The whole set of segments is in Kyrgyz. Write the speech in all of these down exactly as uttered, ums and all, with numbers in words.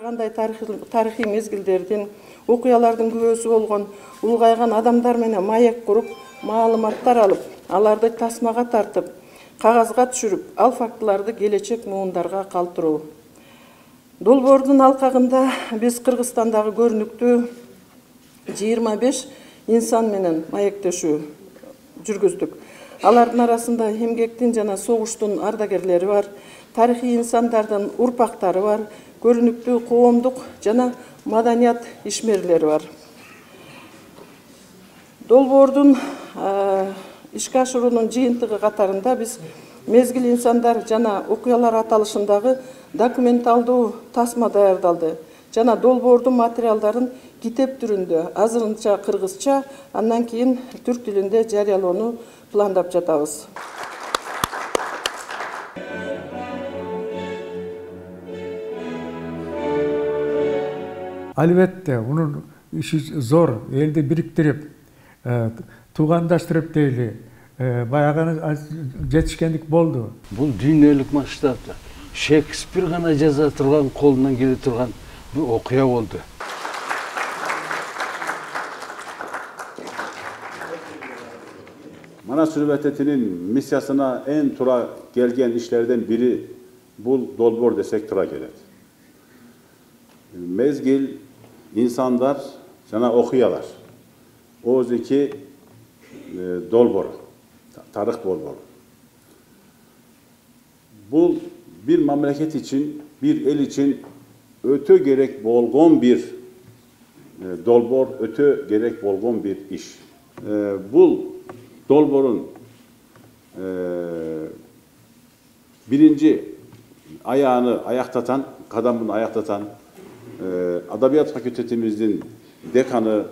кандай тарыхый мезгилдердин, окуялардын күбөсү болгон улгайган адамдар менен маек куруп, маалыматтар алып, аларды тасмага тартып, кагазга түшүрүп, ал фактыларды келечек муундарга калтыруу. Долбоордун алкагында биз Кыргызстандагы көрүнүктүү жыйырма беш инсан менен маектешүү жүргүздүк. Алардын арасында эмгектин жана согуштун ардагерлери бар, тарыхый инсандардын урпактары бар, көрүнүктүү коомдук жана маданият ишмерлери бар. Долбоордун ишке ашыруунун жыйынтыгы катарында биз мезгил инсандар жана окуялар аталышындагы документалдуу тасма даярдалды жана долбоордун материалдарын китеп түрүндө, азырынча кыргызча, андан кийин түрк тилинде жарыялоону пландап жатабыз. Албетте, унун иши зор, элди бириктирип, туугандаштырып дейли, баягы жетишкендик болду. Бул дүйнөлүк масштабта Шекспир гана жаза турган, колунан келе турган бир окуя болду. Манас Университетинин миссиясына эң туура келген иштерден бири бул долбоор десек туура келет. Мезгил, инсандар жана окуялар. Ооздуки долбоор, тарых долбоору. Бул bir мамлекет için, bir el için ötө gerek болгон bir долбоор, ötö gerek болгон bir iş. Bul dolboorun birinci ayağını ayaktatan, kadamını ayaktatan Adabiyat Fakültetimizin dekanı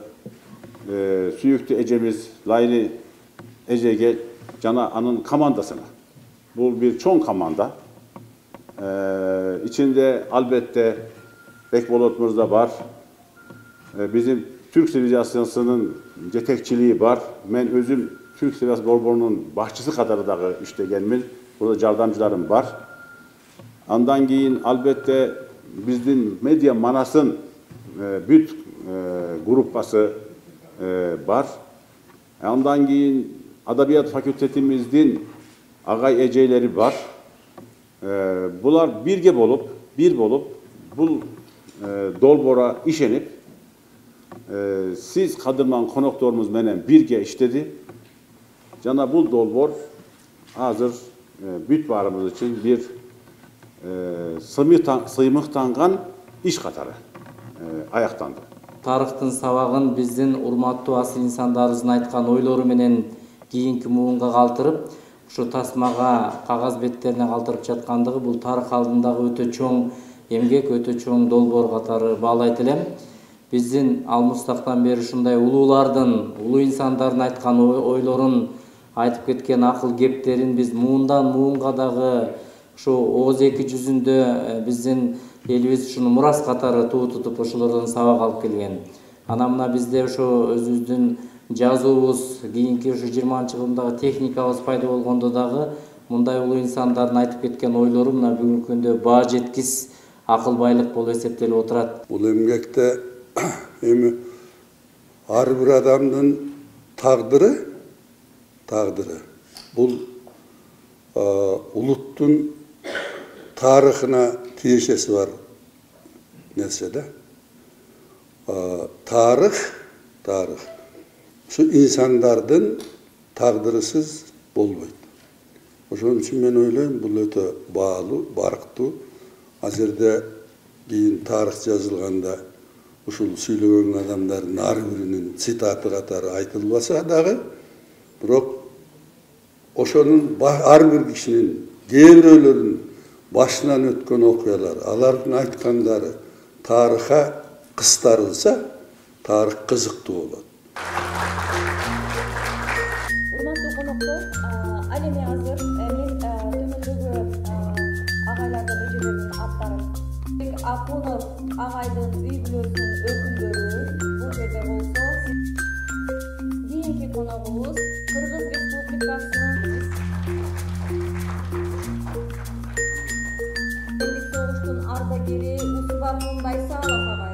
Süyüktü Ecemiz Layli Ecege Cana An'ın komandasına. Bu bir çoğun komanda. Ee, içinde elbette Bekbolot Mirza var. Ee, bizim Türk sivilizasyonunun yetekçiliği var. Ben özüm Türk Sivilizasyon Dolbooru'nun başçısı kadar da işte gelmil. Burada yardımcılarım var. Andan giyin elbette bizim Medya Manas'ın e, büt e, grupası e, var. Andan giyin Adabiyat Fakültetimizin Agay Eceyleri var. Ee, bular birge bolup, bir bolup, bu e, dolboora işenip, e, siz Kadırman konuktorumuz menen birge işledi. Jana bu dolboor hazır e, büt barımız için bir e, sıymıktangan iş katarı e, ayaktandı. Тарыхтын сабагын биздин урматтуу асыл инсандарыбыздын айткан ойлору менен кийинки муунга калтырып, ушу тасмага, кагаз беттерине калтырып жаткандыгы бул тарых алдындагы өтө чоң эмгек, өтө чоң долбоор катары баалайт элем. Биздин ал мустактан бери ушундай улуулардын, улуу инсандардын айткан ойлорун, айтып кеткен акыл кептерин биз муундан муунга дагы ушу ооз эки жүзүндө биздин элибиз ушуну мурас катары туу тутуп ошолордон сабак алып келген. Анан мына бизде ошо өзүбүздүн жазуубуз, кийинки ушу жыйырманчы кылымдагы техникабыз пайда болгондо дагы мындай улуу инсандардын айтып кеткен ойлору мына бүгүнкү күндө баа жеткис акыл байлык болуп эсептелип отурат. Бул эмгекте эми ар бир адамдын тагдыры, тагдыры бул улуттун тарыхына тиешеси бар нерсе да. Тарых, тарых. Şu insanlardan taqdırısız bolboyt. Oşon üçün men oylayм, bul ötө baalı, barktуу. Azirde keyin tarih жазылганда ушул сүйлөгөн адамдардын ар биринин цитаты катары айтылбаса дагы, бирок ошонун ар бир кишинин, кээ бирөөлөрүнүн башынан өткөн окуялар, алардын айткандары тарыхка кыстарылса, тарых кызыктуу болот. Урматтуу коноктор, ал эми азыр мен төмөндөгү агайлардын эжелердин аттарын Акунов агайдын үй бүлөсүнүн өкүлдөрү бул жерде болсо, кийинки коногубуз Кыргыз Республикасынын согуштун ардагери Усуба Акунов Айсалов агай.